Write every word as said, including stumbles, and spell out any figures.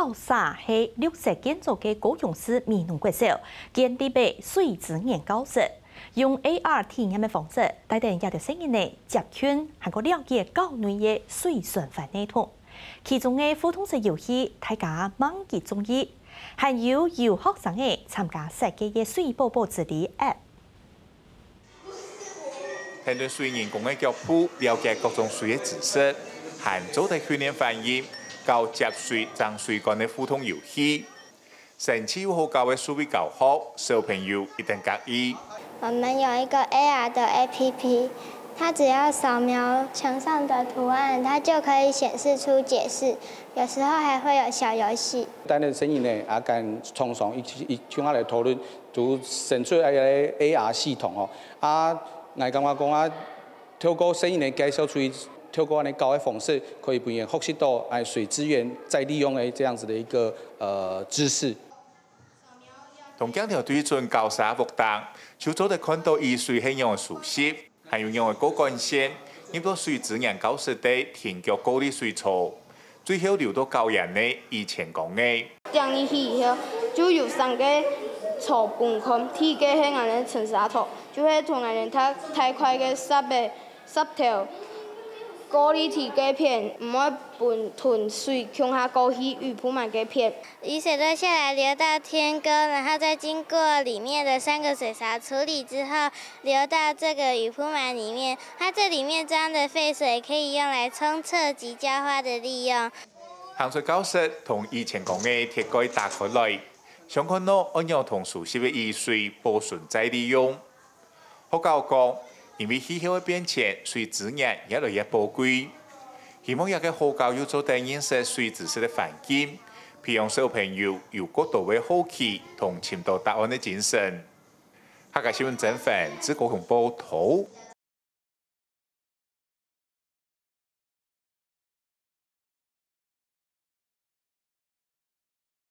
校舍係綠色建築个高雄市美濃國小建立个水資源教室，用A R體驗个方式，帶等這兜細人仔接近，還過了解校內个水循環系統。其中个互動式遊戲，大家蠻幾中意，還有由學生仔參加設計个水寶寶之旅App。 跈等水人工个腳步，了解各種水个知識，還做得訓練反應，教接水、裝水管个互動遊戲。生趣又好搞个數位教學，小朋友一定合意。我们有一个 A R 的 A P P，它只要扫描墙上的图案，它就可以显示出解释，有时候还会有小游戏。等等細人仔，啊，跟廠商一起一起來討論，就生出來个A R系統哦。啊，𠊎感覺講啊，透過細人仔介紹出去，透過恁樣教个方式，可以分佢學習到哎水資源再利用的這樣子的一個呃知識。同鏡頭對準校舍屋頂，就做得看到雨水係仰个舒適，還有仰个過管線，入到水資源教室个停腳過濾水槽，最後流到校園个雨前缸仔。點入去以後，就有三个槽分開，第一个係𠊎等沉沙槽，就係同𠊎等大大塊个石个石頭，過濾忒个片，毋會分同水共下過去雨鋪滿个片。 雨水都下來流到天沟，然後再經過裡面的三個水槽處理之後，流到這個雨鋪滿裡面。它這裡面裝的廢水可以用來沖廁及澆花的利用。行出教室，同雨前缸个鐵蓋打開來，想看到愛仰同舒適个雨水保存再利用。學校講，因為氣候个變遷，水資源越來越寶貴，希望這個學校有做得認識水知識个環境，培養小朋友有較多个好奇同尋到答案个精神。客家新聞曾凡，自高雄報導。